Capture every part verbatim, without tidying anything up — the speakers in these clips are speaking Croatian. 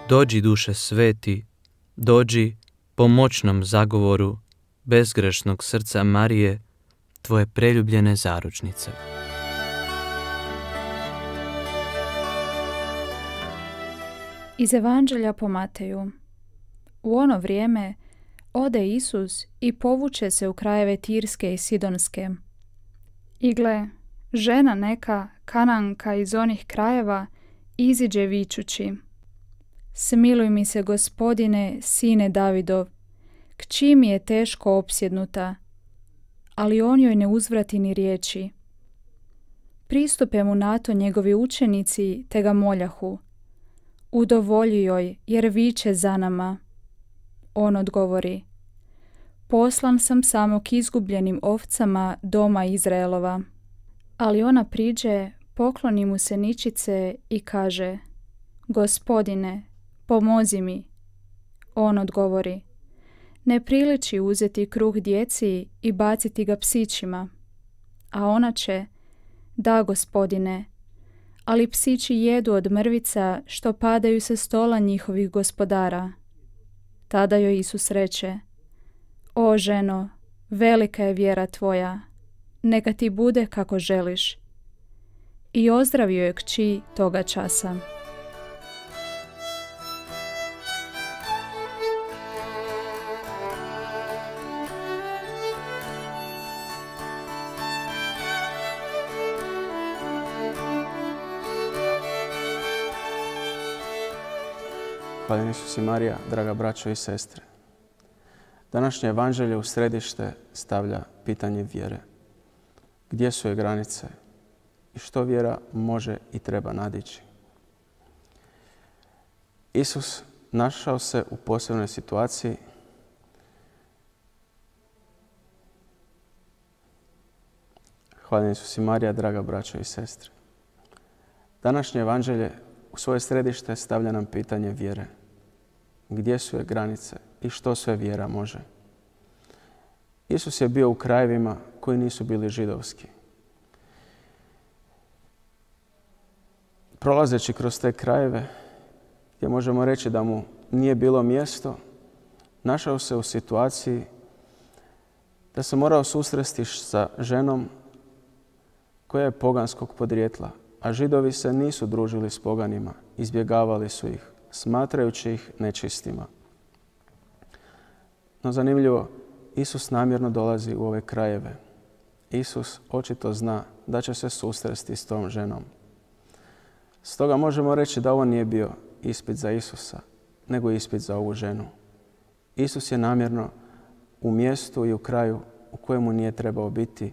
Dođi, duše sveti, dođi pomoćnom zagovoru bezgrešnog srca Marije, tvoje preljubljene zaručnice. Iz Evanđelja po Mateju. U ono vrijeme ode Isus i povuče se u krajeve Tirske i Sidonske. I gle, žena neka, Kananka iz onih krajeva, iziđe vičući: Smiluj mi se, Gospodine, sine Davidov, kći mi je teško opsjednuta. Ali on joj ne uzvrati ni riječi. Pristupe mu na to njegovi učenici te ga moljahu: Udovolji joj, jer viče za nama. On odgovori: Poslan sam samo k izgubljenim ovcama doma Izraelova. Ali ona priđe, pokloni mu se ničice i kaže: Gospodine, pomozi mi. On odgovori: Ne priliči uzeti kruh djeci i baciti ga psićima. A ona će: Da, Gospodine, ali psići jedu od mrvica što padaju sa stola njihovih gospodara. Tada joj Isus reče: O ženo, velika je vjera tvoja, neka ti bude kako želiš. I ozdravio je kći toga časa. Hvala Isus i Marija, draga braćo i sestre. Današnje evanđelje u središte stavlja pitanje vjere. Gdje su je granice i što vjera može i treba nadići? Isus našao se u posebnoj situaciji. Hvala Isus i Marija, draga braćo i sestre. Današnje evanđelje u svoje središte stavlja nam pitanje vjere. Gdje su je granice i što sve vjera može? Isus je bio u krajevima koji nisu bili židovski. Prolazeći kroz te krajeve, gdje možemo reći da mu nije bilo mjesto, našao se u situaciji da se morao susresti sa ženom koja je poganskog podrijetla, a Židovi se nisu družili s poganima, izbjegavali su ih, smatrajući ih nečistima. No zanimljivo, Isus namjerno dolazi u ove krajeve. Isus očito zna da će se susresti s tom ženom. Stoga možemo reći da ovo nije bio ispit za Isusa, nego ispit za ovu ženu. Isus je namjerno u mjestu i u kraju u kojemu nije trebao biti,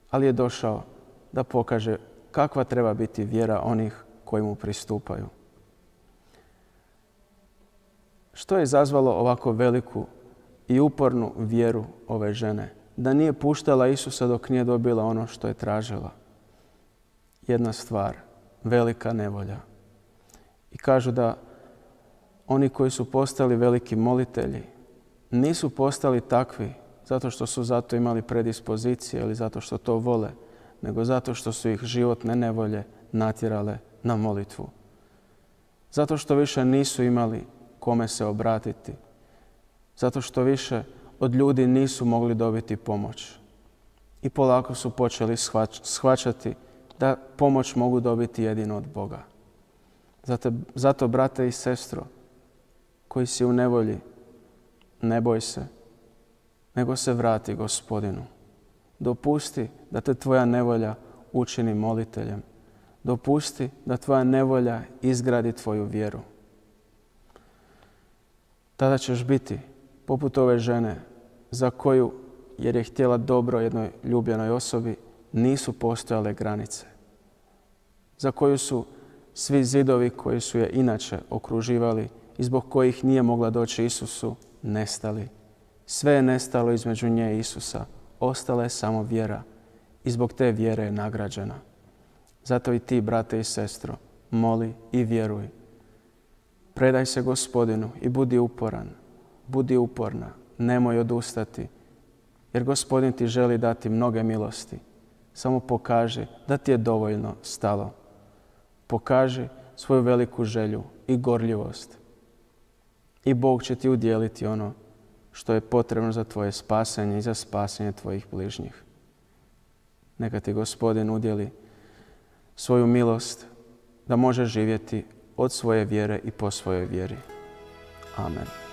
ali je došao da pokaže kakva treba biti vjera onih koji mu pristupaju. Što je izazvalo ovako veliku i upornu vjeru ove žene? Da nije puštala Isusa dok nije dobila ono što je tražila. Jedna stvar, velika nevolja. I kažu da oni koji su postali veliki molitelji nisu postali takvi zato što su zato imali predispozicije ili zato što to vole, nego zato što su ih životne nevolje natjerale na molitvu. Zato što više nisu imali kome se obratiti. Zato što više od ljudi nisu mogli dobiti pomoć. I polako su počeli shvaćati da pomoć mogu dobiti jedino od Boga. Zato, zato brate i sestro, koji si u nevolji, ne boj se, nego se vrati Gospodinu. Dopusti da te tvoja nevolja učini moliteljem. Dopusti da tvoja nevolja izgradi tvoju vjeru. Tada ćeš biti poput ove žene za koju, jer je htjela dobro jednoj ljubljenoj osobi, nisu postojale granice. Za koju su svi zidovi koji su je inače okruživali i zbog kojih nije mogla doći Isusu, nestali. Sve je nestalo između nje i Isusa. Ostala je samo vjera i zbog te vjere je nagrađena. Zato i ti, brate i sestro, moli i vjeruj. Predaj se Gospodinu i budi uporan. Budi uporna, nemoj odustati, jer Gospodin ti želi dati mnoge milosti. Samo pokaži da ti je dovoljno stalo. Pokaži svoju veliku želju i gorljivost i Bog će ti udjeliti ono što je potrebno za tvoje spasenje i za spasenje tvojih bližnjih. Neka ti Gospodin udjeli svoju milost da možeš živjeti od svoje vjere i po svojoj vjeri. Amen.